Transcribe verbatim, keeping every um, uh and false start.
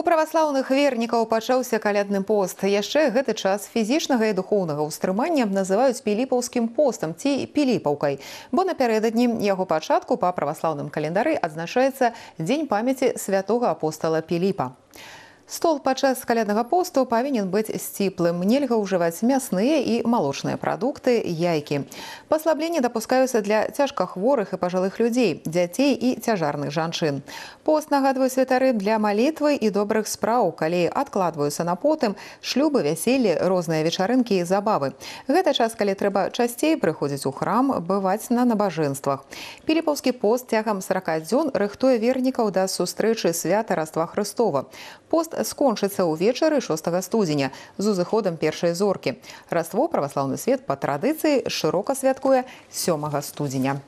У праваслаўных вернікаў пачаўся калядны пост. Яшчэ гэты час фізічнага і духоўнага ўстрымання называюць піліпаўскім постам ці піліпаўкай, бо напярэдадні яго пачатку па праваслаўным календары адзначаецца дзень памяці святога апостала Піліпа. Стол падчас каляднага посту павінен быць сціплым. Нельга ўжываць мясныя і малочныя прадукты, яйкі. Паслабленні дапускаюцца для цяжкахворых і пажылых людзей, дзяцей і цяжарных жанчын. Пост, нагадваюць святары, для малітвы і добрых спраў, калі адкладваюцца на потым шлюбы, вяселлі, розныя вечарынкі і забавы. Гэта час, калі трэба часцей прыходзіць у храм, бываць на набажэнствах. Піліпаўскі пост цягам сарака дзён рыхтуе вернікаў да сустрэчы свята Раства Хрыстова. Пост скончыцца ўвечары шостага студзеня з узыходам першай зоркі. Раство праваслаўны свет па традыцыі шырока святкуе сёмага студзеня.